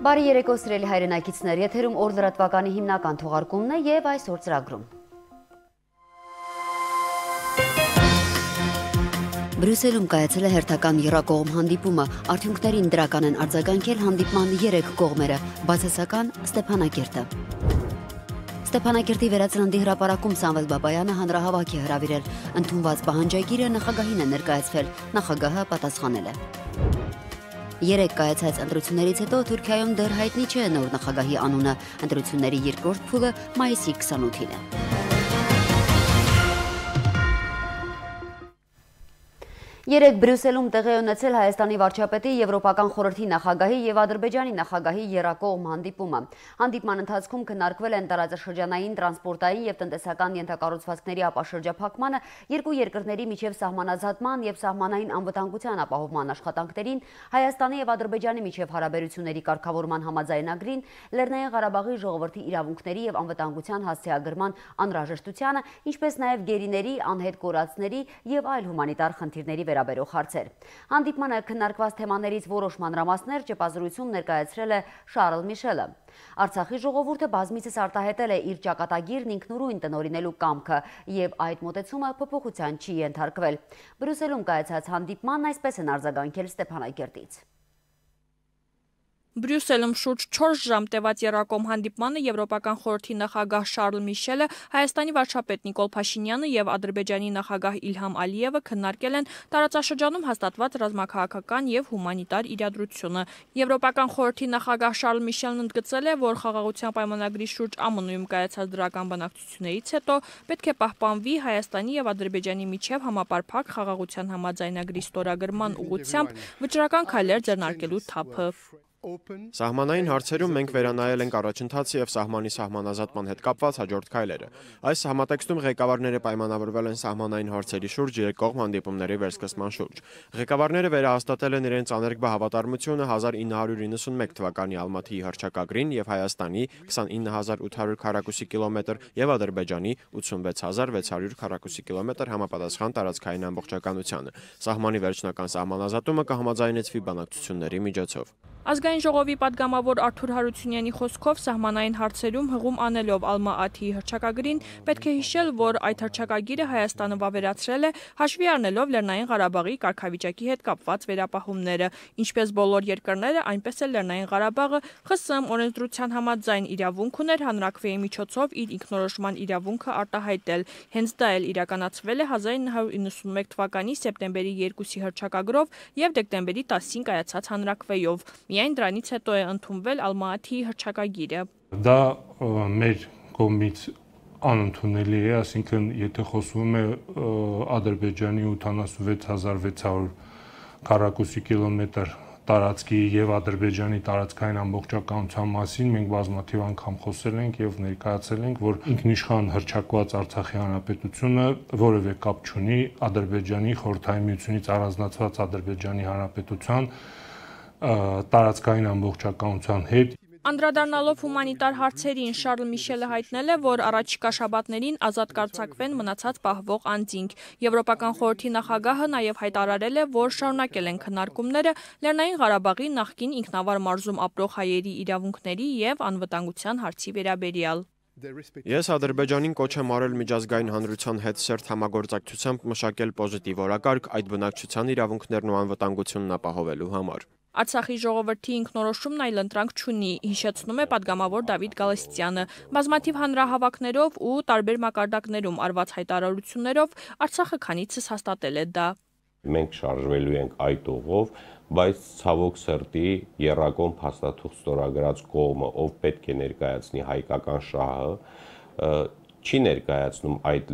Բարի երեկո սիրելի հայրենակիցներ, եթերում օր լրատվականի հիմնական թողարկումն է եւ այսօր ծրագրում։ Բրյուսելում կայացել է հերթական եռակողմ հանդիպումը, արդյունքներին դրական են արձագանքել հանդիպման 3 կողմերը, բացասական Ստեփանակերտը։ Ստեփանակերտի վերածննդի հրապարակում Սամվել Բաբայանը հանրահավաք է հրավիրել, ընդունված պահանջագիրը նախագահին է ներկայացվել, նախագահը պատասխանել է։ 3 կայացած ընտրություններից հետո Թուրքիայում դեռ հայտնի չէ նոր նախագահի անունը, ընտրությունների երկրորդ փուլը մայիսի 28-ին է։ Երեկ Բրյուսելում տեղի ունեցել Հայաստանի վարչապետի, Եվրոպական խորհրդի նախագահի եւ Ադրբեջանի նախագահի եռակողմ հանդիպումը։ Հանդիպման ընթացքում քննարկվել են տարածաշրջանային, տրանսպորտային եւ տնտեսական ենթակառուցվածքների ապաշրջափակմանը, երկու երկրների միջև սահմանազատման եւ սահմանային անվտանգության ապահովման աշխատանքներին, Հայաստանի եւ Ադրբեջանի միջև հարաբերությունների կարգավորման համաձայնագրին, Լեռնային Ղարաբաղի ժողովրդի իրավունքների եւ անվտանգության հասցեագրման անհրաժեշտությանը, ինչպես նաեւ գերիների, անհետ կորածների եւ այլ հումանիտար խնդիրների վերաբերող հարցեր։ Հանդիպմանը քննարկված թեմաներից որոշ մանրամասներ ճեպազրույցում ներկայացրել է Շարլ Միշելը։ Արցախի ժողովուրդը բազմիցս արտահայտել է իր ճակատագիրն ինքնուրույն տնօրինելու կամքը եւ այդ մոտեցումը փոփոխության չի ենթարկվել։ Բրյուսելում կայացած հանդիպմանն այսպես են արձագանքել Ստեփանակերտից։ Բրյուսելում շուրջ 4 ժամ տևած եռակողմ հանդիպմանը Եվրոպական խորհրդի նախագահ Շարլ Միշելը, Հայաստանի վարչապետ Նիկոլ Փաշինյանը եւ Ադրբեջանի նախագահ Իլհամ Ալիևը քննարկել են տարածաշրջանում հաստատված ռազմաքաղաքական եւ հումանիտար իրադրությունը։ Եվրոպական խորհրդի նախագահ Շարլ Միշելն ընդգծել է, որ խաղաղության պայմանագրի շուրջ ԱՄՆ-ում կայացած դրական բանակցություններից հետո պետք է պահպանվի Հայաստանի եւ Ադրբեջանի միջև համապարփակ խաղաղության համաձայնագրի ստորագրման ուղղությամբ վճռական քայլեր ձեռնարկելու թափը։ Սահմանային հարցերում մենք վերանայել ենք առաջընթացը եւ սահմանի սահմանազատման հետ կապված հաջորդ քայլերը։ Այս համատեքստում ղեկավարները պայմանավորվել են սահմանային հարցերի շուրջ երկկողմ հանդիպումների վերսկսման շուրջ։ Ղեկավարները վերահաստատել են իրենց աներկբա հավատարմությունը 1991 թվականի Ալմաթիի հռչակագրին եւ Հայաստանի 29800 քառակուսի կիլոմետր եւ Ադրբեջանի 86600 քառակուսի կիլոմետր համապատասխան տարածքային ամբողջականությանը։ Սահմանի վերջնական սահմանազատումը կհամաձայնեցվի բանակցությունների միջոցով։ Ազգային ժողովի падգամավոր Արթուր Հարությունյանի խոսքով սահմանային հարցերում հղում անելով Ալմա-Աթիի հռչակագրին պետք է հիշել, որ այդ հռչակագիրը Հայաստանը վավերացրել է հաշվի առնելով Լեռնային Ղարաբաղի կարգավիճակի հետ կապված վերապահումները, ինչպես բոլոր երկրները, այնպես էլ Լեռնային Ղարաբաղը ԽՍՀՄ օրենսդրության համաձայն իրավունք ուներ հանրաքվեի միջոցով իր ինքնորոշման իրավունքը արտահայտել։ Հենց դա էլ իրականացվել է 1991 թվականի սեպտեմբերի 2-ի հռչակագրով եւ դեկտեմբերի 10-ին կայացած հանրաքվեով։ Միայն դրանից հետո է ընդունվել Ալմա-Աթիի հռչակագիրը։ Դա մեր կողմից անընդունելի է, այսինքն եթե խոսվում է Ադրբեջանի 86600 քառակուսի կիլոմետր տարածքի եւ Ադրբեջանի տարածքային ամբողջականության մասին մենք բազմաթիվ անգամ խոսել ենք եւ ներկայացել ենք, որ ինքնիշխան հռչակված Արցախի հանրապետությունը որևէ կապ չունի Ադրբեջանի խորհրդային միությունից առանձնացված Ադրբեջանի հանրապետության տարածքային ամբողջականության հետ։ Անդրադառնալով հումանիտար հարցերին Շարլ Միշելը հայտնել է, որ առաջիկա շաբաթներին ազատ կարձակվեն մնացած պահվող անձինք։ Եվրոպական խորհրդի նախագահը նաև հայտարարել է, որ շարունակել են քննարկումները Լեռնային Ղարաբաղի նախկին ինքնավար մարզում ապրող հայերի իրավունքների եւ անվտանգության հարցի վերաբերյալ։ Ես Ադրբեջանին կոչ եմ արել միջազգային հանրության հետ սերտ համագործակցությամբ մշակել պոզիտիվ օրակարգ այդ բնակչության իրավունքներն ու անվտանգությունն ապահովելու համար։ Արցախի ժողովրդի ինքնորոշումն այլընտրանք չունի, հիշեցնում է падգամավոր Դավիթ Գալստյանը։ Բազմաթիվ հանրահավաքներով ու տարբեր մակարդակներում արված հայտարարություններով Արցախը քանիցս հաստատել է դա։ Մենք շարժվելու ենք այդ ուղով, բայց ցավոք սրտի եռակողմ փաստաթուղթ ստորագրած կողմը, ով պետք է ներկայացնի հայկական շահը, չի ներկայացնում այդ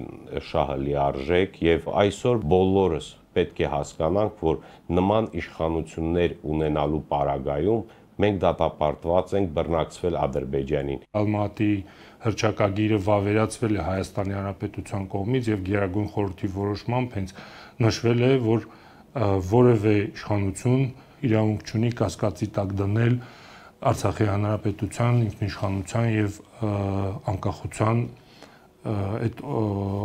շահը լիարժեք եւ այսօր բոլորս պետք է հասկանանք, որ նման իշխանություններ ունենալու պարագայում մենք դատապարտված ենք բռնակցվել Ադրբեջանին։ Ալմատիի հռչակագիրը վավերացվել է Հայաստանի Հանրապետության կողմից եւ Գերագույն խորհրդի որոշմամբ հենց նշվել է, որ որևէ իշխանություն իրավունք չունի կասկածի տակ դնել Արցախի Հանրապետության ինքնիշխանության եւ անկախության այդ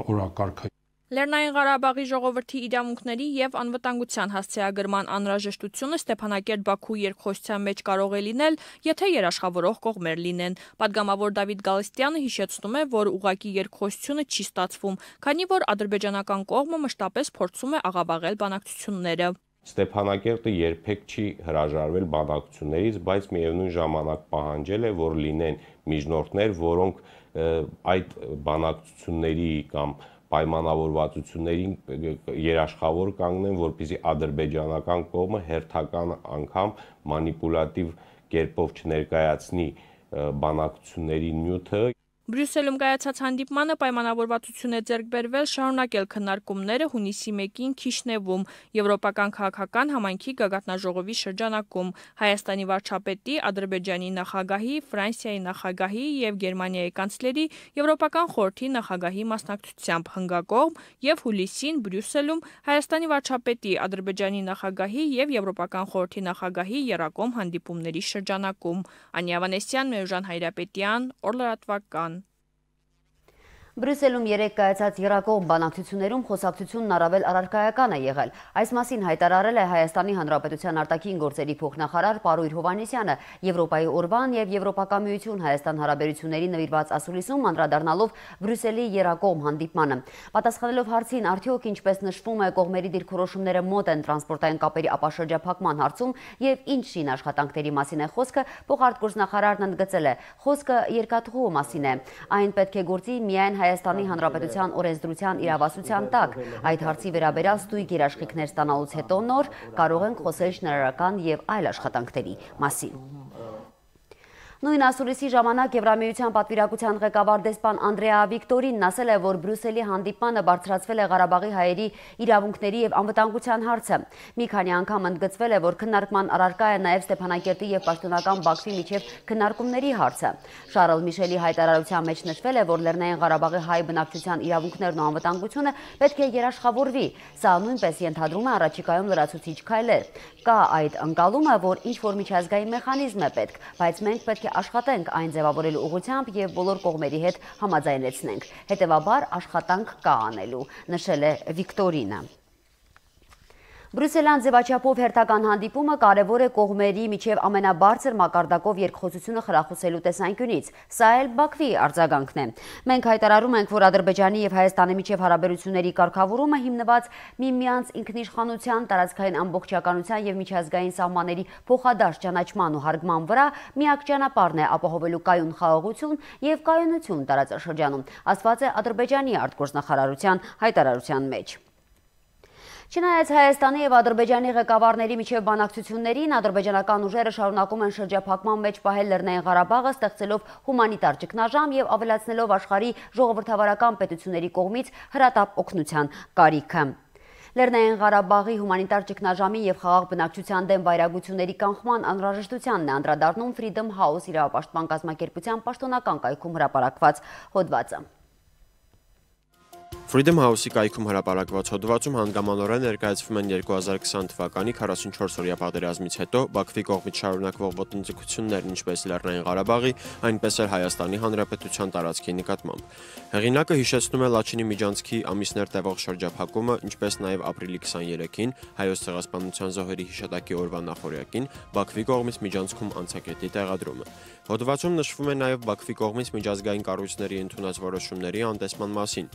օրակարգը։ Լեռնային Ղարաբաղի ժողովրդի իրավունքների եւ անվտանգության հասցեագրման անհրաժեշտությունը Ստեփանակերտ-Բաքու երկխոսության մեջ կարող է լինել, եթե երաշխավորող կողմեր լինեն։ Պատգամավոր Դավիթ Գալստյանը հիշեցնում է, որ ուղղակի երկխոսությունը չի ստացվում, քանի որ ադրբեջանական կողմը մշտապես փորձում է աղավաղել բանակցությունները։ Ստեփանակերտը երբեք չի հրաժարվել բանակցություններից, բայց միևնույն ժամանակ պահանջել է, որ լինեն միջնորդներ, որոնք այդ բանակցությունների կամ պայմանավորվածություններին երաշխավոր կանգնեն, որպեսզի ադրբեջանական կողմը հերթական անգամ մանիպուլատիվ կերպով չներկայացնի բանակցությունների նյութը։ Բրյուսելում կայացած հանդիպմանը պայմանավորվածություն է ձեռք բերվել շարունակել քննարկումները հունիսի 1-ին Քիշնևում Եվրոպական քաղաքական համայնքի գագաթնաժողովի շրջանակում Հայաստանի վարչապետի, Ադրբեջանի նախագահի, Ֆրանսիայի նախագահի եւ Գերմանիայի կանցլերի, Եվրոպական խորհրդի նախագահի մասնակցությամբ հնգակողմ եւ հուլիսին Բրյուսելում Հայաստանի վարչապետի, Ադրբեջանի նախագահի եւ Եվրոպական խորհրդի նախագահի եռակողմ հանդիպումների շրջանակում։ Անիա Վանեսյան, Մերժան Հայրապետյան, Օրլրատվական։ Բրյուսելում երեկ կայացած եռակողմ բանակցություններում խոսակցությունն առավել առարկայական է եղել։ Այս մասին հայտարարել է Հայաստանի Հանրապետության արտաքին գործերի փոխնախարար Պարույր Հովհաննիսյանը Եվրոպայի օրվան եւ Եվրոպական միություն Հայաստան հարաբերությունների նվիրված ասուլիսում անդրադառնալով Բրյուսելի եռակողմ հանդիպմանը։ Պատասխանելով հարցին, արդյոք ինչպես նշվում է կողմերի դիրքորոշումները մոտ են տրանսպորտային կապերի ապաշրջափակման հարցում եւ ինչ շին աշխատանքների մասին է խոսքը, փոխարտգործնախարարն ընդգծել է. խոսքը երկաթուղու մասին է։ Այն պետք է գործի միայն Հայաստանի Հանրապետության օրենսդրության իրավասության տակ։ Այդ հարցի վերաբերյալ ստույգ երաշխիքներ ստանալուց հետո նոր կարող ենք խոսել շինարարական եւ այլ աշխատանքների մասին։ Նույն ասուլիսի ժամանակ Եվրամիության պատվիրակության ղեկավար դեսպան Անդրեա Վիկտորինն ասել է, որ Բրյուսելի հանդիպմանը բարձրացվել է Ղարաբաղի հայերի իրավունքների եւ անվտանգության հարցը։ Մի քանի անգամ ընդգծվել է, որ քննարկման առարկա է նաեւ Ստեփանակերտի եւ պաշտոնական Բաքվի միջև քննարկումների հարցը։ Շարլ Միշելի հայտարարության մեջ նշվել է, որ Լեռնային Ղարաբաղի հայ բնակչության իրավունքներն ու անվտանգությունը պետք է երաշխավորվի։ Սա նույնպես ենթադրում է առաջիկայում լրացուցիչ քայլեր։ Կա այդ ընկալումը, որ ինչ-որ միջազգային մեխանիզմ է պետք, բայց մենք պետք է աշխատենք այն ձևավորելու ուղղությամբ եւ բոլոր կողմերի հետ համաձայնեցնենք։ Հետևաբար աշխատանք կա անելու, նշել է Վիկտորինը։ Բրյուսելյան ձևաչափով հերթական հանդիպումը կարևոր է կողմերի միջև ամենաբարձր մակարդակով երկխոսությունը խրախուսելու տեսանկյունից։ Սա էլ Բաքվի արձագանքն է։ Մենք հայտարարում ենք, որ Ադրբեջանի եւ Հայաստանի միջև հարաբերությունների կարգավորումը հիմնված միմյանց ինքնիշխանության, տարածքային ամբողջականության եւ միջազգային սահմանների փոխադարձ ճանաչման ու հարգման վրա միակ ճանապարհն է ապահովելու կայուն խաղաղություն եւ կայունություն տարածաշրջանում, ասված է Ադրբեջանի արտգործնախարարության հայտարարության մեջ։ Չնայած Հայաստանի եւ Ադրբեջանի ղեկավարների միջև բանակցություններին, ադրբեջանական ուժերը շարունակում են շրջափակման մեջ պահել Լեռնային Ղարաբաղը, ստեղծելով հումանիտար ճգնաժամ եւ ավելացնելով աշխարհի ժողովրդավարական պետությունների կողմից հրատապ օգնության կարիքը։ Լեռնային Ղարաբաղի հումանիտար ճգնաժամի եւ խաղաղ բնակչության դեմ վայրագությունների կանխման անհրաժեշտությանն է անդրադառնում Freedom House իրավապաշտպան կազմակերպության պաշտոնական կայքում հրապարակված հոդվածը։ Freedom House-ի կայքում հրապարակված հոդվածում հանգամանորեն ներկայացվում են 2020 թվականի 44-օրյա պատերազմից հետո Բաքվի կողմից շարունակվող ոտնձգություններն ինչպես Լեռնային Ղարաբաղի, այնպես էլ Հայաստանի Հանրապետության տարածքի նկատմամբ։ Հեղինակը հիշեցնում է Լաչինի միջանցքի ամիսներ տևող շրջափակումը, ինչպես նաև ապրիլի 23-ին Հայոց ցեղասպանության զոհերի հիշատակի օրվա նախօրյակին Բաքվի կողմից միջանցքում անցակետի տեղադրումը։ Հոդվածում նշվում է նաև Բաքվի կողմից միջազգային կառույցների ընդունած որոշումների անտեսման մասին։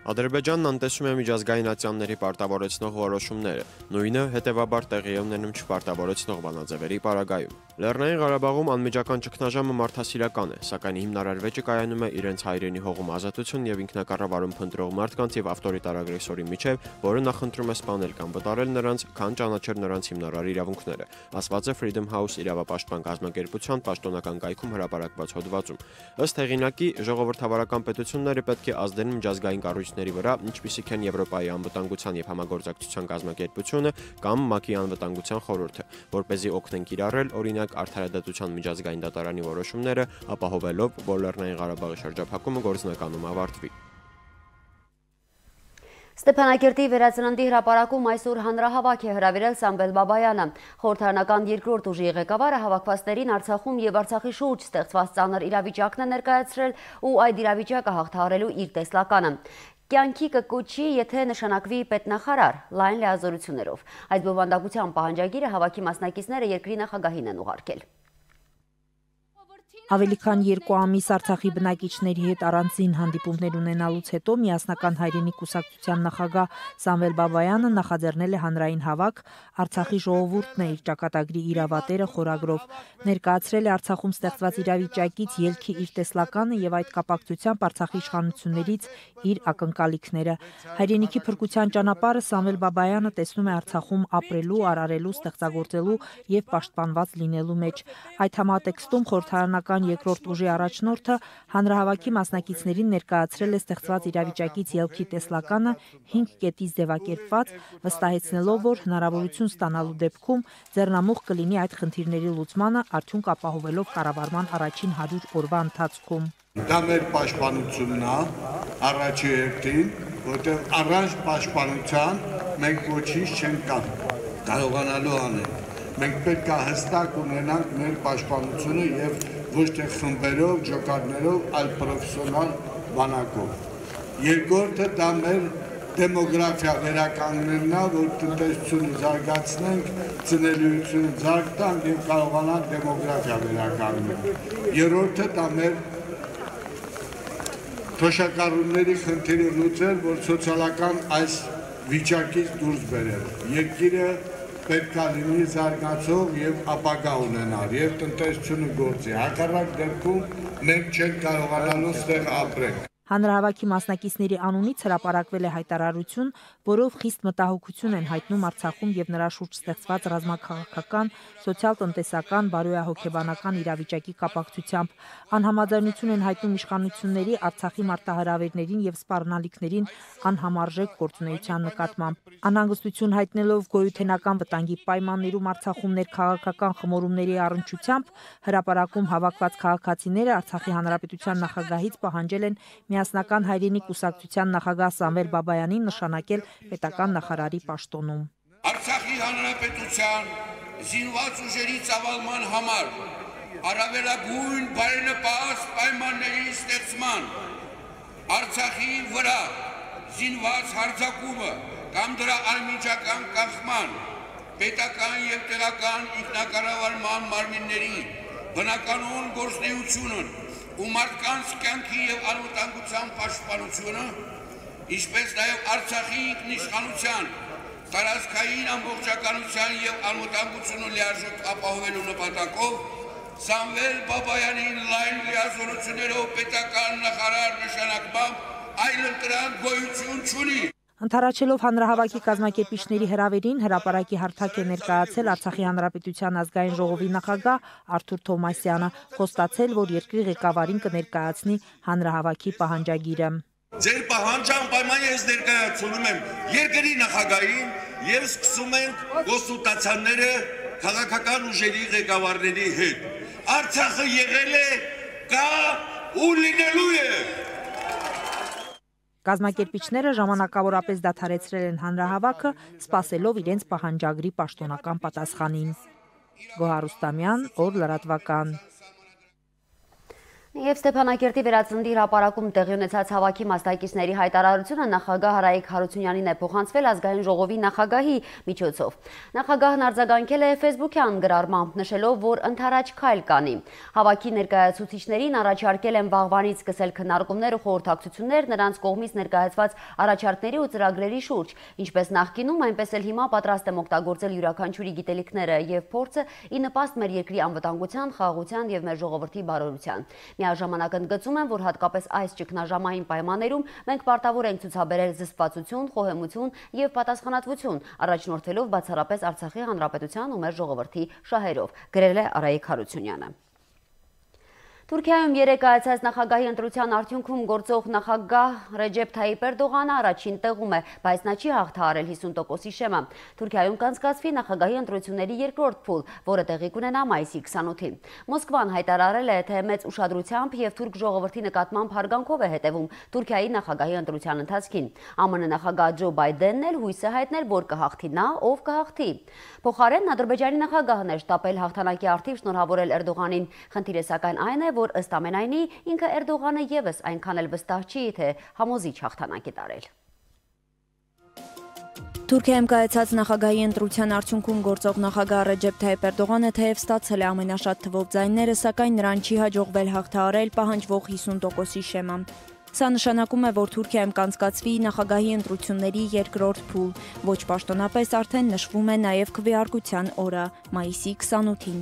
Ադրբեջանն անտեսում է միջազգային ատյանների պարտավորեցնող որոշումները, նույնը հետևաբար տեղի է ունենում չպարտավորեցնող բանաձևերի պարագայում։ Լեռնային Ղարաբաղում անմիջական ճգնաժամը մարդասիրական է, սակայն հիմնարար վեճը կայանում է իրենց հայրենի հողում ազատություն եւ ինքնակառավարում փնտրող մարդկանց եւ ավտորիտար ագրեսորի միջև, որը նախընտրում է սպանել կամ վտարել նրանց, քան ճանաչել նրանց հիմնարար իրավունքները, ասված է Freedom House իրավապաշտպան կազմակերպության պաշտոնական կայքում հրապարակված հոդվածում։ Ըստ հեղինակի, ժողովրդավարական պետությունները պետք է ազդեն միջազգային կառույցների վրա, ինչպիսիք են Եվրոպայի անվտանգության եւ համագործակցության կազմակերպությունը կամ ՄԱԿ-ի անվտանգության խորհուրդը, որպեսզի օգնեն կիրառել օրինակ արդարադատության միջազգային դատարանի որոշումները, ապահովելով, որ Լեռնային Ղարաբաղի շրջափակումը գործնականում ավարտվի։ Ստեփանակերտի վերածննդի հրապարակում այսօր հանրահավաք է հրավիրել Սամվել Բաբայանը։ Խորհրդարանական երկրորդ ուժի ղեկավարը հավաքվածներին Արցախում եւ Արցախի շուրջ ստեղծված ծանր իրավիճակն է ներկայացրել ու այդ իրավիճակը հաղթահարելու իր տեսլականը։ կյանքի կկոչի, եթե նշանակվի պետնախարար, լայն լիազորություններով։ Այս բովանդակության պահանջագիրը հավաքի մասնակիցները երկրի նախագահին են ուղարկել։ Ավելի քան 2 ամիս Արցախի բնակիչների հետ առանձին հանդիպումներ ունենալուց հետո Միասնական հայրենի կուսակցության նախագահ Սամվել Բաբայանը նախաձեռնել է հանրային հավաք Արցախի ժողովուրդն է իր ճակատագրի իրավատերը խորագրով, ներկայացրել է Արցախում ստեղծված իրավիճակից ելքի իր տեսլականը եւ այդ կապակցությամբ Արցախի իշխանություններից իր ակնկալիքները։ Հայրենիքի փրկության ճանապարհը Սամվել Բաբայանը տեսնում է Արցախում ապրելու, արարելու, ստեղծագործելու եւ պաշտպանված լինելու մեջ։ Այդ համատեքստում խորհրդարանական երկրորդ ուժի առաջնորդը հանրահավաքի մասնակիցներին ներկայացրել է ստեղծված իրավիճակից ելքի տեսլականը 5 կետից ձևակերպված, վստահեցնելով, որ հնարավորություն ստանալու դեպքում ձեռնամուխ կլինի այդ խնդիրների լուծմանը, արդյունք ապահովելով կառավարման առաջին 100 օրվա ընթացքում։ Դա մեր պաշտպանությունն է, առաջի հերթին, որտեղ առանց պաշտպանության մենք ոչինչ չենք կարողանալու անել։ Մենք պետք է հստակ ունենանք մեր պաշտպանությունը եւ ոչ թե խմբերով, ջոկատներով, այլ պրոֆեսիոնալ բանակով։ Երկրորդը դա մեր դեմոգրաֆիա վերականգնելն է, որ տնտեսությունը զարգացնենք, ծնելիությունը զարգ տանք եւ կարողանանք դեմոգրաֆիա վերականգնել։ Երրորդը դա մեր թոշակառուների խնդիրը լուծել, որ սոցիալական այս վիճակից դուրս բերել։ Երկիրը պետք է լինի զարգացող եւ ապագա ունենալ եւ տնտեսությունը գործի։ Հակառակ դեպքում մենք չենք կարողանալու ստեղ ապրել։ Հանրահավաքի մասնակիցների անունից հրապարակվել է հայտարարություն, որով խիստ մտահոգություն են հայտնում Արցախում եւ նրա շուրջ ստեղծված ռազմաքաղաքական, սոցիալ-տնտեսական, բարոյահոգեբանական իրավիճակի կապակցությամբ։ Անհամաձայնություն են հայտնում իշխանությունների Արցախի մարտահրավերներին եւ սպառնալիքներին անհամարժեք գործունեության նկատմամբ։ Անհանգստություն հայտնելով գոյութենական վտանգի պայմաններում Արցախում ներքաղաքական խմորումների առնչությամբ հրապարակում հավաքված քաղաքացիները Արցախի հանրապետության նախագահից պահանջել են Միասնական հայրենի կուսակցության նախագահ Սամվել Բաբայանին նշանակել պետական նախարարի պաշտոնում։ Արցախի հանրապետության զինված ուժերի ծավալման համար առավելագույն բարենպաստ պայմանների ստեղծման, Արցախի վրա զինված հարձակումը կամ դրա անմիջական կանխման, պետական եւ տեղական ինքնակառավարման մարմինների բնականոն գործունեությունն ու մարդկանց կյանքի եւ անվտանգության պաշտպանությունը, ինչպես նաեւ Արցախի ինքնիշխանության, տարածքային ամբողջականության եւ անվտանգությունը լիարժեք ապահովելու նպատակով Սամվել Բաբայանին լայն լիազորություններով պետական նախարար նշանակմամբ այլընտրանք գոյություն չունի։ Ընդառաջելով հանրահավաքի կազմակերպիչների հրավերին հրապարակի հարթակ է ներկայացել Արցախի հանրապետության ազգային ժողովի նախագահ Արթուր Թոմասյանը, խոստացել, որ երկրի ղեկավարին կներկայացնի հանրահավաքի պահանջագիրը։ Ձեր պահանջանպայմանը ես ներկայացնում եմ երկրի նախագահին եւ սկսում ենք կոնսուլտացիաները քաղաքական ուժերի ղեկավարների հետ։ Արցախը եղել է, կա ու լինելու է։ Կազմակերպիչները ժամանակավորապես դադարեցրել են հանրահավաքը, սպասելով իրենց պահանջագրի պաշտոնական պատասխանին։ Գոհար Ռուստամյան, օր լրատվական։ Եվ Ստեփանակերտի վերածնդի հրապարակում տեղի ունեցած հավաքի մասնակիցների հայտարարությունը նախագահ Հարայիկ Հարությունյանին է փոխանցվել ազգային ժողովի նախագահի միջոցով։ Նախագահն արձագանքել է Facebook-յան գրառմամբ, նշելով, որ ընդառաջ քայլ կանի։ Հավաքի ներկայացուցիչներին առաջարկել են վաղվանից սկսել քննարկումներ ու խորհրդակցություններ նրանց կողմից ներկայացված առաջարկների ու ծրագրերի շուրջ, ինչպես նախկինում, այնպես էլ հիմա պատրաստ եմ օգտագործել յուրաքանչյուրի գիտելիքները եւ փորձը ի նպաստ մեր երկրի անվտանգության, խաղաղության եւ մեր ժողովրդի բարօրության։ Միաժամանակ ընդգծում են, որ հատկապես այս ճգնաժամային պայմաններում մենք պարտավոր ենք ցուցաբերել զսպվածություն, խոհեմություն եւ պատասխանատվություն, առաջնորդվելով բացառապես Արցախի հանրապետության ու մեր ժողովրդի շահերով, գրել է Արայիկ Հարությունյանը։ Թուրքիայում երեկ կայացած նախագահի ընտրության արդյունքում գործող նախագահ Ռեջեփ Թայիպ Էրդողանը առաջին տեղում է, բայց նա չի հաղթահարել 50%-ի շեմը։ Թուրքիայում կանցկացվի նախագահի ընտրությունների երկրորդ փուլ, որը տեղի կունենա մայիսի 28-ին։ Մոսկվան հայտարարել է, թե մեծ ուշադրությամբ եւ թուրք ժողովրդի նկատմամբ հարգանքով է հետևում Թուրքիայի նախագահի ընտրության ընթացքին։ ԱՄՆ նախագահ Ջո Բայդենն էլ հույս է հայտնել, որ կհաղթի նա, ով կհաղթի։ Փոխարենն Ադրբեջանի նախագահն է շտապել հաղթանակի առթիվ շնորհավորել Էրդողանին։ Խնդիրը սակայն այն է, որ ըստ ամենայնի ինքը Էրդողանը ևս այնքան էլ վստահ չի, թե համոզիչ հաղթանակ է տարել։ Թուրքիայում կայացած նախագահի ընտրության արդյունքում գործող նախագահ Ռեջեփ Թայիփ Էրդողանը թեև ստացել է ամենաշատ թվով ձայները, սակայն նրան չի հաջողվել հաղթահարել պահանջվող 50%-ի շեմը։ Սա նշանակում է, որ Թուրքիայում կանցկացվի նախագահի ընտրությունների երկրորդ փուլ, ոչ պաշտոնապես արդեն նշվում է նաև քվեարկության օրը՝ մայիսի 28-ին։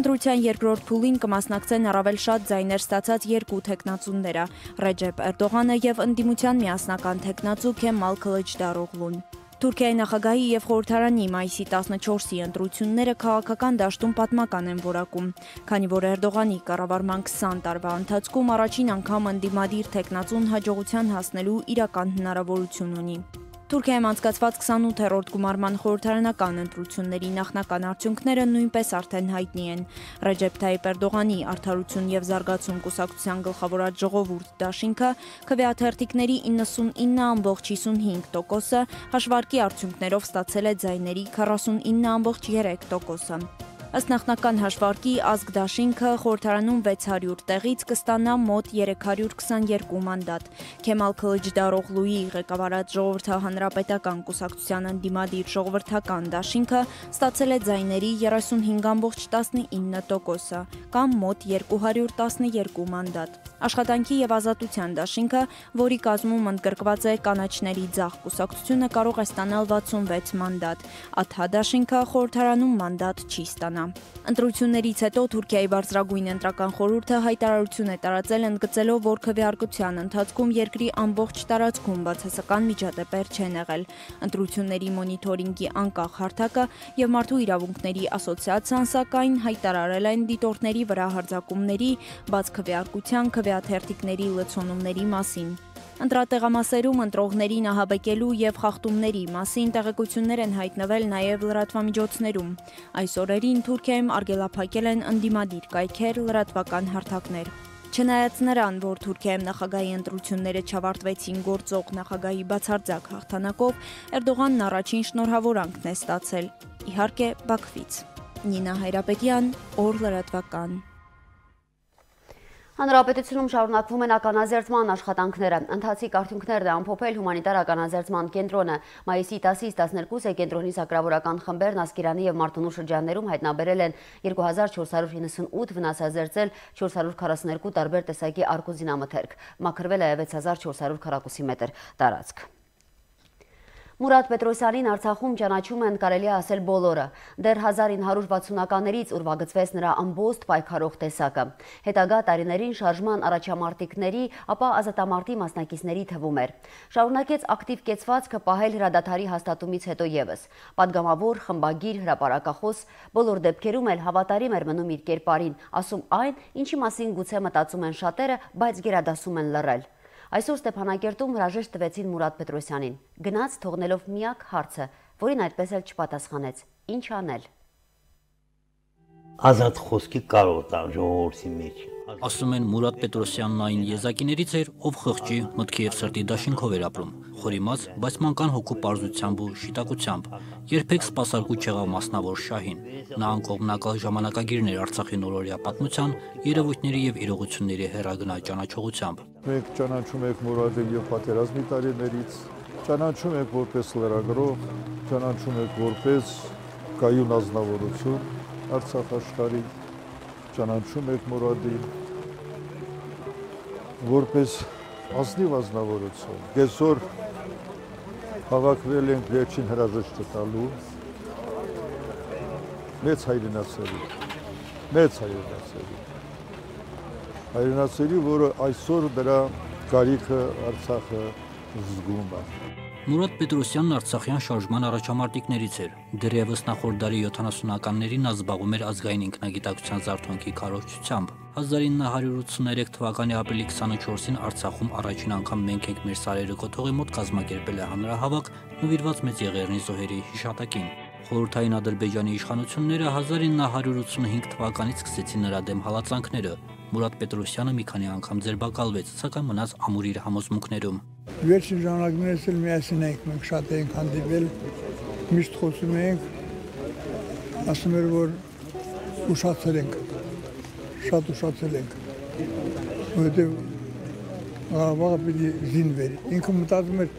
Ընտրության երկրորդ փուլին կմասնակցեն առավել շատ ձայներ ստացած երկու թեկնածուները՝ Ռեջեփ Էրդողանը եւ ընդդիմության միասնական թեկնածու Քեմալ Քլիչդարօղլուն։ Թուրքիայի նախագահի եւ խորհրդարանի մայիսի 14-ի ընտրությունները քաղաքական դաշտում պատմական են որակում, քանի որ Էրդողանի կառավարման 20 տարվա ընթացքում առաջին անգամ ընդդիմադիր թեկնածուն հաջողության հասնելու իրական հնարավորություն ունի։ Թուրքիայում անցկացված 28-րդ գումարման խորհրդարանական ընտրությունների նախնական արդյունքները նույնպես արդեն հայտնի են։ Ռեջեփ Թայիփ Էրդողանի Արդարություն եւ զարգացում կուսակցության գլխավորած ժողովուրդ դաշինքը քվեաթերթիկների 99.55%-ը, հաշվարկի արդյունքներով ստացել է ձայների 49.3%-ը։ Ըստ նախնական հաշվարկի ազգ դաշինքը խորհրդարանում 600 տեղից կստանա մոտ 322 մանդատ։ Քեմալ Քլիչդարօղլուի ղեկավարած ժողովրդահանրապետական կուսակցության ընդդիմադիր ժողովրդական դաշինքը ստացել է ձայների 35.19%-ը, կամ մոտ 212 մանդատ։ Աշխատանքի եւ ազատության դաշինքը, որի կազմում ընդգրկված է կանաչների ձախ կուսակցությունը, կարող է ստանալ 66 մանդատ։ Աթհա դաշինքը խորհրդարանում մանդատ չի ստանա։ Ընտրություններից հետո Թուրքիայի բարձրագույն ընտրական խորհուրդը հայտարարություն է տարածել ընդգծելով, որ քվեարկության ընթացքում երկրի ամբողջ տարածքում բացասական միջադեպեր չեն եղել։ Ընտրությունների մոնիթորինգի անկախ հարթակը եւ Մարդու իրավունքների ասոցիացիան սակայն հայտարարել են դիտորդների վրա հարձակումների, բաց քվեարկության, քվեաթերթիկների լցոնումների մասին։ Ընտրատեղամասերում ընտրողներին ահաբեկելու եւ խախտումների մասին տեղեկություններ են հայտնվել նաեւ լրատվամիջոցներում։ Այս օրերին Թուրքիայում արգելափակել են ընդդիմադիր կայքեր, լրատվական հարթակներ։ Չնայած նրան, որ Թուրքիայում նախագահի ընտրությունները չավարտվեցին գործող նախագահի բացարձակ հաղթանակով, Էրդողանն առաջին շնորհավորանքն է ստացել։ Իհարկե, Բաքվից։ Նինա Հայրապետյան, Օր լրատվական։ Հանրապետությունում շարունակվում են ականազերծման աշխատանքները։ Ընթացիկ արդյունքներն է ամփոփել հումանիտար ականազերծման կենտրոնը։ Մայիսի 10-ից 12-ը կենտրոնի սակրավորական խմբերն Ասկերանի եւ Մարտունու շրջաններում հայտնաբերել են 2498 վնասազերծել 442 տարբեր տեսակի արկոզինամթերք։ Մաքրվել է 6400 քառակուսի մետր տարածք։ Մուրադ Պետրոսյանին Արցախում ճանաչում են կարելի ասել բոլորը։ Դեռ 1960-ականներից ուրվագծվեց նրա ամբողջ պայքարող տեսակը։ Հետագա տարիներին շարժման առաջամարտիկների, ապա ազատամարտի մասնակիցների թվում էր։ Շարունակեց ակտիվ կեցվածքը պահել հրադադարի հաստատումից հետո եւս։ Պատգամավոր, խմբագիր, հրապարակախոս, բոլոր դեպքերում էլ հավատարիմ էր մնում իր կերպարին, ասում այն, ինչի մասին գուցե մտածում են շատերը, բայց գերադասում են լռել։ Այսօր Ստեփանակերտում հրաժեշտ տվեցին Մուրադ Պետրոսյանին, գնաց թողնելով միակ հարցը, որին այդպես էլ չպատասխանեց. ինչ անել։ Ազատ խոսքի կարող տալ ժողովրդի մեջ։ Ասում են Մուրադ Պետրոսյանն այն եզակիներից էր, ով խղճի, մտքի եւ սրտի դաշինքով էր ապրում, խորիմաց, բայց մանկան հոգու պարզությամբ ու շիտակությամբ, երբեք սպասարկու չեղավ մասնավոր շահին։ Նա անկողմնակալ ժամանակագիրներ Արցախի նորօրյա պատմության, երևույթների եւ իրողությունների հեռագնա ճանաչողությամբ։ Մենք ճանաչում ենք Մուրադին եւ պատերազմի տարիներից, ճանաչում ենք որպես լրագրող, ճանաչում ենք որպես կայուն ազնվորություն Արցախ աշխարհի, ճանաչում ենք Մուրադին որպես ազնիվ ազնվորություն։ Այսօր հավաքվել ենք վերջին հրաժեշտը տալու մեծ հայրենասերի, որը այսօր դրա կարիքը Արցախը զգում է։ Մուրադ Պետրոսյանն Արցախյան շարժման առաջամարտիկներից էր։ Դեռևս նախորդ դարի 70-ականներին նա զբաղվում էր ազգային ինքնագիտակցության զարթոնքի քարոզչությամբ։ 1983 թվականի ապրիլի 24-ին Արցախում առաջին անգամ մենք ենք մեր սարերը կոթողի մոտ կազմակերպել է հանրահավաք նվիրված մեծ Եղեռնի զոհերի հիշատակին։ Խորհրդային Ադրբեջանի իշխանությունները 1985 թվականից սկսեցին նրա դեմ հալածանքները։ Մուրադ Պետրոսյանը մի քանի անգամ ձերբակալվեց, սակայն մնաց ամուր իր համոզմունքներում։ Վերջին ժամանակներս էլ միասին ենք, մենք շատ ենք հանդիպել, միշտ խոսում ենք, ասում էր, որ ուշացել ենք, շատ ուշացել ենք։ որովհետև Ղարաբաղը պիտի զինվեր։ Ինքը մտածում էր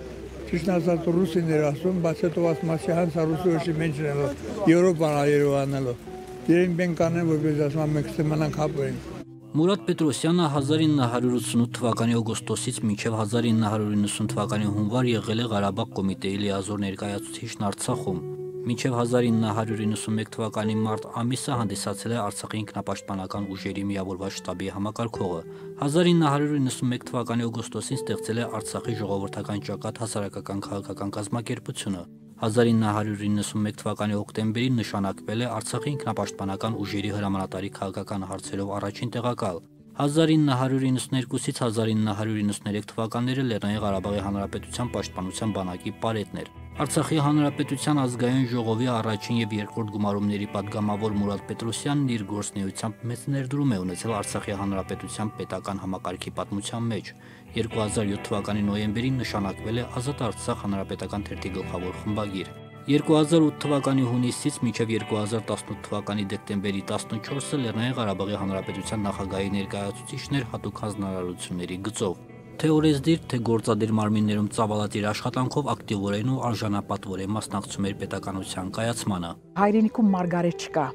ճիշտ ասած ռուսին էր ասում, բայց հետո ասում ասի հանց ռուսի ոչի մենք չնելով, Եվրոպան Երևանելով։ Իրենք մենք կանեն, որպես ասում մենք ստեմանանք հապերենք։ Մուրադ Պետրոսյանը 1988 թվականի օգոստոսից մինչև 1990 թվականի հունվար եղել է Ղարաբաղ կոմիտեի լիազոր ներկայացուցիչն Արցախում։ Մինչև 1991 թվականի մարտ ամիսը հանդիսացել է Արցախի ինքնապաշտպանական ուժերի միավորված շտաբի համակարգողը։ 1991 թվականի օգոստոսին ստեղծել է Արցախի ժողովրդական ճակատ հասարակական քաղաքական կազմակերպությունը։ 1991 թվականի հոկտեմբերին նշանակվել է Արցախի ինքնապաշտպանական ուժերի հրամանատարի քաղաքական հարցերով առաջին տեղակալ։ 1992-ից 1993 թվականները Լեռնային Ղարաբաղի Հանրապետության պաշտպանության բանակի պարետն էր։ Արցախի Հանրապետության ազգային ժողովի առաջին եւ երկրորդ գումարումների պատգամավոր Մուրադ Պետրոսյանն իր գործունեությամբ մեծ ներդրում է ունեցել Արցախի Հանրապետության պետական համակարգի պատմության մեջ։ 2007 թվականի նոյեմբերին նշանակվել է Ազատ Արցախ հանրապետական թերթի գլխավոր խմբագիր։ 2008 թվականի հունիսից մինչև 2018 թվականի դեկտեմբերի 14-ը Լեռնային Ղարաբաղի Հանրապետության նախագահի ներկայացուցիչն էր հատուկ հանձնարարությունների գծով։ Թե օրեսդիր, թե գործադիր մարմիններում ծավալած իր աշխատանքով ակտիվորեն ու արժանապատվորեն մասնակցում էր պետականության կայացմանը։ Հայրենիքում մարգարետ չկա,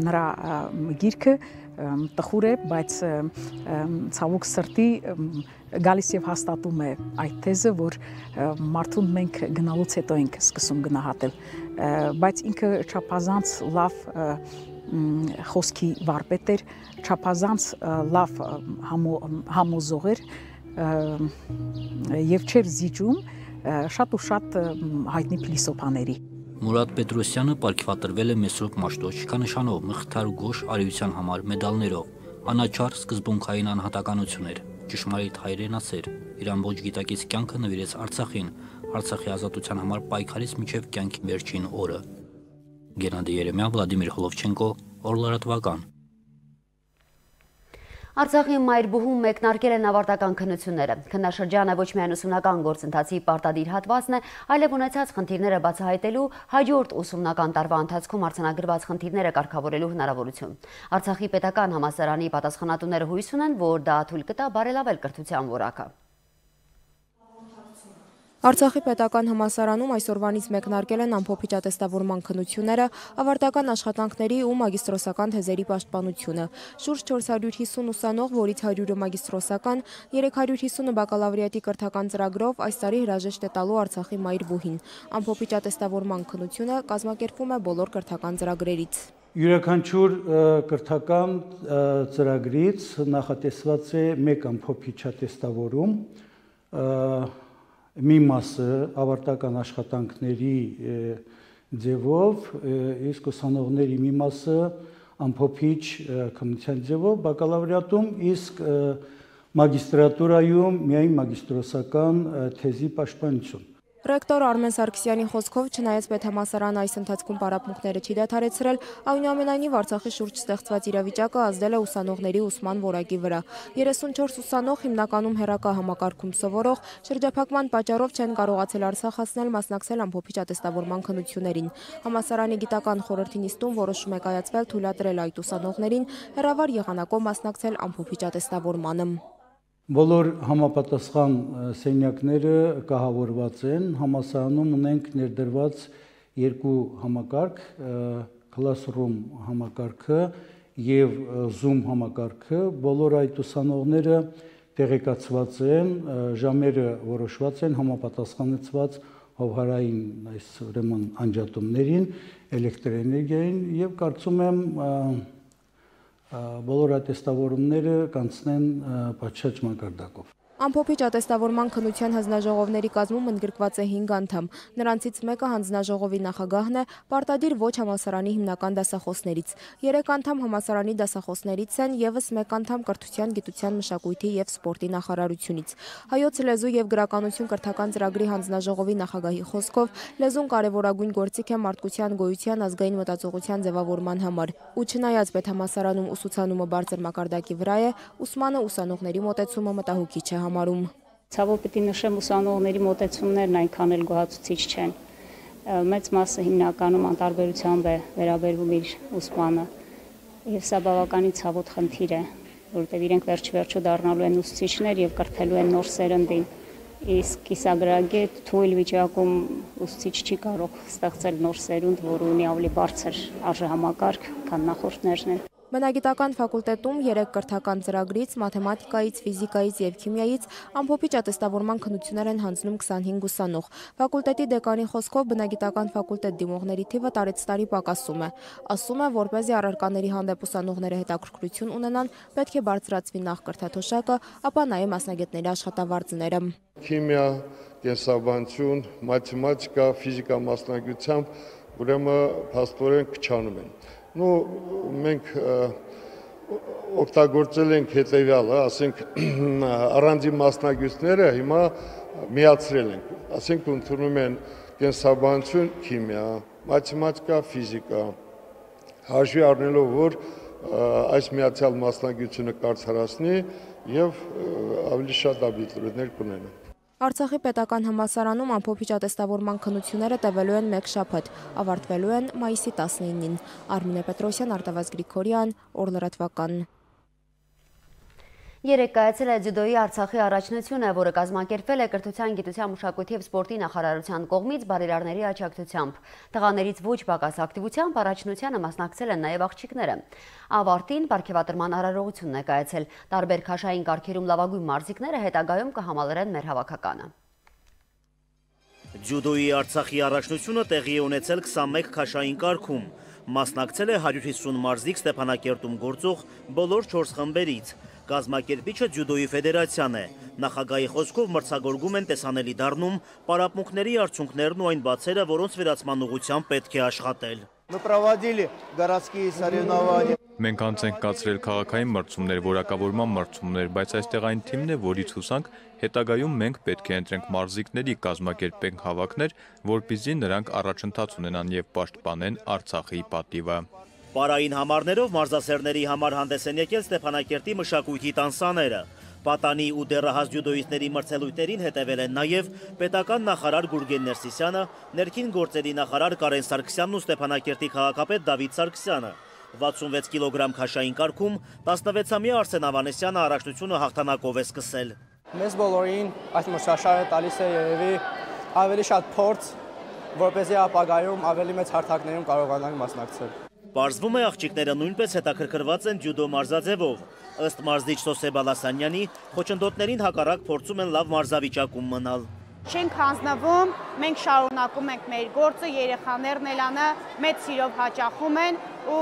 նրա գիրքը տխուր է, բայց ցավոք սրտի գալիս եւ հաստատում է այդ թեզը, որ մարդուն մենք գնալուց հետո ենք սկսում գնահատել, բայց ինքը չափազանց լավ խոսքի վարպետ էր, չափազանց լավ համոզող էր եւ չէր զիջում շատ ու շատ հայտնի փիլիսոփաների։ Մուրադ Պետրոսյանը պարգևատրվել է Մեսրոպ Մաշտոչկա նշանով, Մխիթար Գոշ արիության համար մեդալներով, անաչառ սկզբունքային անհատականություն էր, ճշմարիտ հայրենասեր, իր ամբողջ գիտակից կյանքը նվիրեց Արցախին, Արցախի ազատության համար պայքարից մինչև կյանքի վերջին օրը։ Գենադի Երեմյան, Վլադիմիր Խոլովչենկո, Օրլարատվական։ Արցախի մայրբուհում մեկնարկել են ավարտական քննությունները։ Քննաշրջանը ոչ միայն ուսումնական գործընթացի պարտադիր հատվածն է, այլև ունեցած խնդիրները բացահայտելու, հաջորդ ուսումնական տարվա ընթացքում արձանագրված խնդիրները կարգավորելու հնարավորություն։ Արցախի պետական համալսարանի պատասխանատուները հույս ունեն, որ դա թույլ կտա բարելավել կրթության որակը։ Արցախի պետական համալսարանում այսօրվանից մեկնարկել են ամփոփիչ ատեստավորման քննությունները, ավարտական աշխատանքների ու մագիստրոսական թեզերի պաշտպանությունը։ Շուրջ 450 ուսանող, որից 100-ը մագիստրոսական, 350-ը բակալավրիատի կրթական ծրագրով այս տարի հրաժեշտ է տալու Արցախի մայրբուհին։ Ամփոփիչ ատեստավորման քննությունը կազմակերպվում է բոլոր կրթական ծրագրերից։ Յուրաքանչյուր կրթական ծրագրից նախատեսված է մեկ ամփոփիչ ատեստավորում, մի մասը ավարտական աշխատանքների ձևով, իսկ ուսանողների մի մասը ամփոփիչ քննության ձևով բակալավրիատում, իսկ մագիստրատուրայում միայն մագիստրոսական թեզի պաշտպանություն։ Ռեկտոր Արմեն Սարգսյանի խոսքով, չնայած պետհամալսարանը այս ընթացքում պարապմունքները չի դադարեցրել, այնուամենայնիվ Արցախի շուրջ ստեղծված իրավիճակը ազդել է ուսանողների ուսման որակի վրա։ 34 ուսանող հիմնականում հեռակա համակարգում սովորող, շրջափակման պատճառով չեն կարողացել Արցախ հասնել մասնակցել ամփոփիչ ատեստավորման քննություններին։ Համալսարանի գիտական խորհրդի նիստում որոշում է կայացվել թույլատրել այդ ուսանողներին հեռավար եղանակով մասնակցել ամփոփիչ ատեստավորմանը։ Բոլոր համապատասխան սենյակները կահավորված են, համալսարանում ունենք ներդրված երկու համակարգ, Classroom համակարգը եւ Zoom համակարգը, բոլոր այդ ուսանողները տեղեկացված են, ժամերը որոշված են, համապատասխանեցված հովհարային այս ուրեմն անջատումներին, էլեկտրոէներգիային եւ կարծում եմ բոլոր ատեստավորումները կանցնեն պատշաճ մակարդակով։ Ամփոփիչ ատեստավորման քննության հանձնաժողովների կազմում ընդգրկված է 5 անդամ։ Նրանցից մեկը հանձնաժողովի նախագահն է, պարտադիր ոչ համալսարանի հիմնական դասախոսներից։ 3 անդամ համալսարանի դասախոսներից են, եւս 1 անդամ կրթության, գիտության, մշակույթի եւ սպորտի նախարարությունից։ Հայոց լեզու եւ գրականություն կրթական ծրագրի հանձնաժողովի նախագահի խոսքով լեզուն կարևորագույն գործիք է մարդկության գոյության ազգային մտածողության ձևավորման համար։ Ու չնայած պետհամալսարանում ուսուցանումը բարձր մակարդակի վրա է, ուսմանը ուսանողների մոտեցումը մտահոգիչ է համարում։ Ցավոք պիտի նշեմ, ուսանողների մոտեցումներն այնքան էլ գոհացուցիչ չեն։ Մեծ մասը հիմնականում անտարբերությամբ է վերաբերվում իր ուսմանը, եւ սա բավականին ցավոտ խնդիր է։ որովհետև իրենք վերջ-վերջո դառնալու են ուսուցիչներ եւ կրթելու են նոր սերնդին։ Իսկ կիսագրագետ թույլ վիճակում ուսուցիչ չի կարող ստեղծել նոր սերունդ, որը ունի ավելի բարձր արժեհամակարգ, քան նախորդներն են։ Բնագիտական ֆակուլտետում 3 կրթական ծրագրից, մաթեմատիկայից, ֆիզիկայից եւ քիմիայից ամփոփիչ ատեստավորման քննություններ են հանձնում 25 ուսանող։ Ֆակուլտետի դեկանի խոսքով բնագիտական ֆակուլտետ դիմողների թիվը տարեց տարի պակասում է։ Ասում է, որպեսզի առարկաների հանդեպ ուսանողները հետաքրքրություն ունենան, պետք է բարձրացվի նախ կրթաթոշակը, ապա նաեւ մասնագետների աշխատավարձները։ Քիմիա, կենսաբանություն, մաթեմատիկա, ֆիզիկա մասնագիտությամբ ուրեմն փաստորեն քչանում են։ Մենք օգտագործել ենք հետևյալը, ասենք առանձին մասնագետները հիմա միացրել ենք, ասենք ընդունում են կենսաբանություն, քիմիա, մաթեմատիկա, ֆիզիկա, հաշվի առնելով, որ այս միացյալ մասնագիտությունը կարծրացնի եւ ավելի շատ աբիտուրիենտներ կունենան։ Արցախի պետական համալսարանում ամփոփիչ ատեստավորման քննությունները տևելու են 1 շաբաթ, ավարտվելու են մայիսի 19-ին։ Արմինե Պետրոսյան, Արտավազ Գրիգորյան, Օրլրատվական։ Երեկ կայացել է ձյուդոյի Արցախի առաջնությունը, որը կազմակերպվել է Կրթության, գիտության, մշակույթի և սպորտի նախարարության կողմից բարերարների աջակցությամբ։ Տղաներից ոչ պակաս ակտիվությամբ առաջնությանը մասնակցել են նաև աղջիկները։ Ավարտին պարգևատրման արարողությունն է կայացել։ Տարբեր քաշային կարգերում լավագույն մարզիկները հետագայում կհամալրեն մեր հավաքականը։ Ձյուդոյի Արցախի առաջնությունը տեղի է ունեցել 21 քաշային կարգում։ Մասնակցել է 150 մարզիկ Ստեփանակերտում գործող բոլոր 4 խմբերից։ Կազմակերպիչը ձյուդոյի ֆեդերացիան է։ Նախագահի խոսքով մրցակցում են տեսանելի դառնում պարապմունքների արդյունքներն ու այն բացերը, որոնց վերացման ուղղությամբ պետք է աշխատել։ Մենք անց ենք կացրել քաղաքային մրցումներ, որակավորման մրցումներ, բայց այստեղ այն թիմն է, որից հուսանք հետագայում մենք պետք է ընտրենք մարզիկների, կազմակերպենք հավաքներ, որպեսզի նրանք առաջընթաց ունենան եւ պաշտպանեն Արցախի պատիվը։ Պարային համարներով մարզասերների համար հանդես են եկել Ստեփանակերտի մշակույթի տանսաները։ Պատանի ու դեռահաս ձյուդոյիստների մրցելույթերին հետևել են նաև պետական նախարար Գուրգեն Ներսիսյանը, ներքին գործերի նախարար Կարեն Սարգսյանն ու Ստեփանակերտի քաղաքապետ Դավիթ Սարգսյանը։ 66 կիլոգրամ քաշային կարգում 16-ամյա Արսեն Ավանեսյանը առաջնությունը հաղթանակով է սկսել։ Մեզ բոլորին այս մրցաշարը տալիս է երևի ավելի շատ փորձ, որպեսզի ապագայում ավելի մեծ հարթակներում կարողանանք մասնակցել։ Պարզվում է աղջիկները նույնպես հետաքրքրված են ձյուդո մարզաձևով։ Ըստ մարզիչ Սոսե Բալասանյանի, խոչընդոտներին հակառակ փորձում են լավ մարզավիճակում մնալ։ Չենք հանձնվում, մենք շարունակում ենք մեր գործը, երեխաներն էլ անը մեծ սիրով հաճախում են ու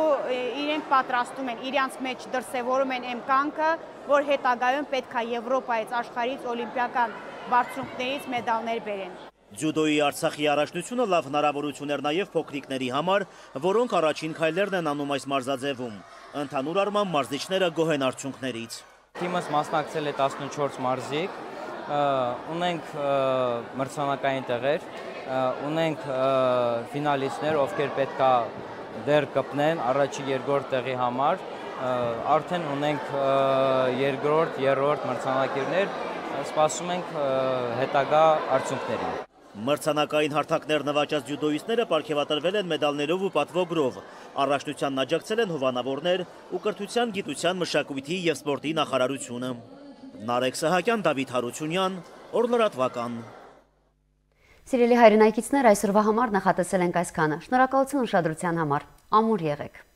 իրենք պատրաստում են, իրանց մեջ դրսևորում են այն կանգը, որ հետագայում պետք է Եվրոպայից, աշխարհից, օլիմպիական բարձունքներից մեդալներ բերեն։ Ձյուդոյի Արցախի առաջնությունը լավ հնարավորություն էր նաև փոքրիկների համար, որոնք առաջին քայլերն են անում այս մարզաձևում։ Ընդհանուր առմամբ մարզիչները գոհ են արդյունքներից։ Թիմս մասնակցել է 14 մարզիկ, ունենք մրցանակային տեղեր, ունենք ֆինալիստներ, ովքեր պետք է դեռ կպնեն առաջի երկրորդ տեղի համար, արդեն ունենք երկրորդ, երրորդ մրցանակիրներ, սպասում ենք հետագա արդյունքներին։ Մրցանակային հարթակներ նվաճած ձյուդոյիստները պարգևատրվել են մեդալներով ու պատվոգրով։ Առաջնությանն աջակցել են հովանավորներ ու Կրթության, գիտության, մշակույթի և սպորտի նախարարությունը։ Նարեկ Սահակյան, Դավիթ Հարությունյան, Օրլրատվական։ Սիրելի հայրենակիցներ, այսօրվա համար նախատեսել ենք այսքանը։ Շնորհակալություն ուշադրության համար։ Ամուր եղեք։